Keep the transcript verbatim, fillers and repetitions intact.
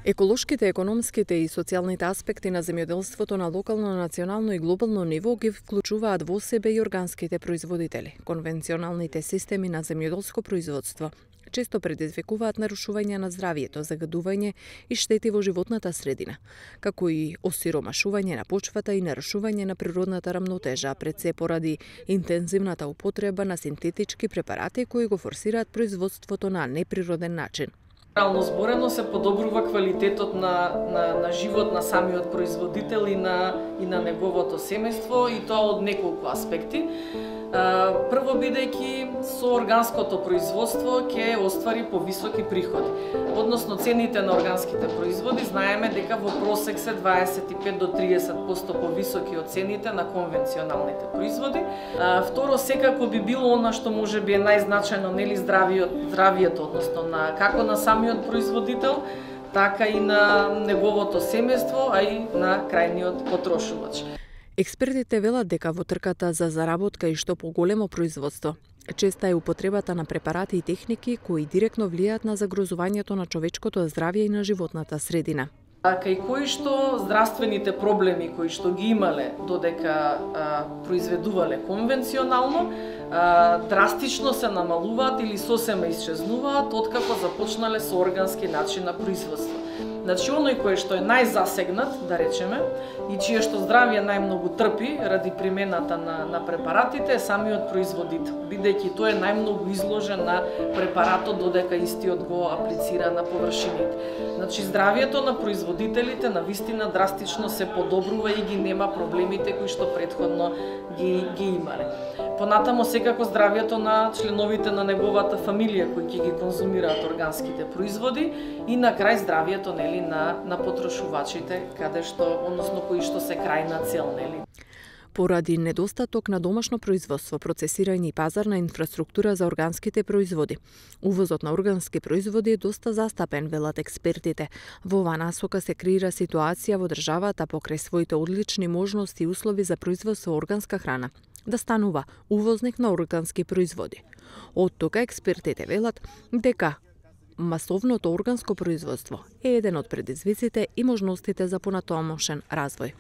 Еколошките, економските и социјалните аспекти на земјоделството на локално, национално и глобално ниво ги вклучуваат во себе и органските производители. Конвенционалните системи на земјоделско производство често предизвикуваат нарушување на здравјето, загадување и штети во животната средина, како и осиромашување на почвата и нарушување на природната рамнотежа, пред се поради интензивната употреба на синтетички препарати кои го форсираат производството на неприроден начин. Реално зборено се подобрува квалитетот на, на, на живот на самиот производител и на, и на неговото семејство, и тоа од неколку аспекти. Прво, бидејќи со органското производство ќе оствари повисоки приходи. Односно, цените на органските производи знаеме дека во просек се дваесет и пет до триесет проценти повисоки од цените на конвенционалните производи. Второ, секако би било она што можеби е најзначајно, нели, здравиот, здравието, односно на како на самиот производител, така и на неговото семејство, а и на крајниот потрошувач. Експертите велат дека во трката за заработка и што поголемо производство, честа е употребата на препарати и техники кои директно влијаат на загрозувањето на човечкото здравје и на животната средина. Кај кои што здравствените проблеми кои што ги имале додека а, произведувале конвенционално, а, драстично се намалуваат или сосема исчезнуваат откако започнале со органски начин на производство. Значи, оној кој што е најзасегнат, да речеме, и чие што здравје најмногу трпи ради примената на, на препаратите е самиот производител, бидејќи тој е најмногу изложен на препаратот додека истиот го аплицира на површините. Значи, здравјето на производителите на вистина драстично се подобрува и ги нема проблемите кои што претходно ги, ги имале. Понатамо, секако здравјето на членовите на неговата фамилија кои ќе ги конзумираат органските производи, и на крај здравјето, нели, на на потрошувачите, каде што, односно кои што се крајна цел, нели. Поради недостаток на домашно производство, процесирање и пазарна инфраструктура за органските производи, увозот на органски производи е доста застапен, велат експертите. Во оваа насока се креира ситуација во државата покрај своите одлични можности и услови за производство органска храна да станува увозник на органски производи. Од тога експертите велат дека масовното органско производство е еден од предизвиците и можностите за понатомошен развој.